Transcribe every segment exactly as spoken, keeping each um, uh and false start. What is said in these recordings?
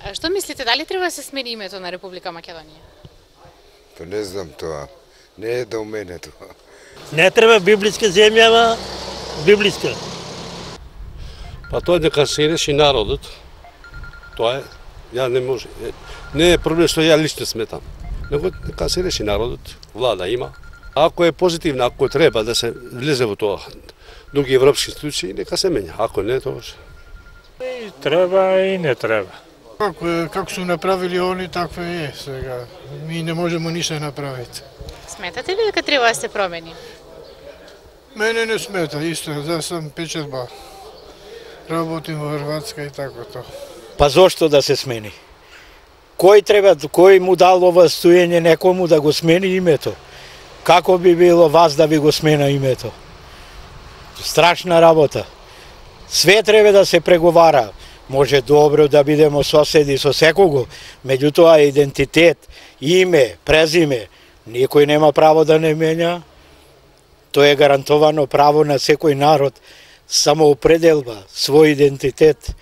А што мислите, дали треба да се смени името на Република Македонија? Па не знам тоа. Не е до мене тоа. Не треба библиска земја, ама библиска. Па тоа дека се реши народот. Тоа е, ја не може. Не е проблем што ја лично сметам. Него дека се реши народот, влада има. Ако е позитивна, ако треба да се влезе во тоа, други европски институции, нека се менја. Ако не, тоа И треба и не треба. Како, како су направили они, такво е сега. Ми не можеме ништо направити. Сметате ли дека треба да се промени? Мене не смета, исто, да сам печерба. Работим во Хрватска и тако тоа. Па зошто да се смени? Кој треба, кој му дал ова стоење некому да го смени името? Како би било вас да ви го смена името? Страшна работа. Све треба да се преговара. Може добро да бидеме соседи со секого, меѓутоа идентитет, име, презиме, никој нема право да не менја. Тоа е гарантовано право на секој народ, самоопределба, свој идентитет.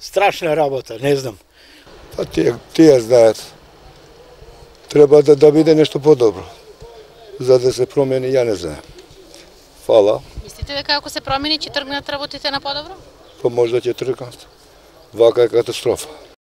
Страшна работа, не знам. Па тие, тие знаат. Треба да, да биде нешто подобро. За да се промени, ја не знам. Фала. Мислите дека ако се промени ќе тргнат работите на подобро? Па може да ќе тргнат. Вака е катастрофа.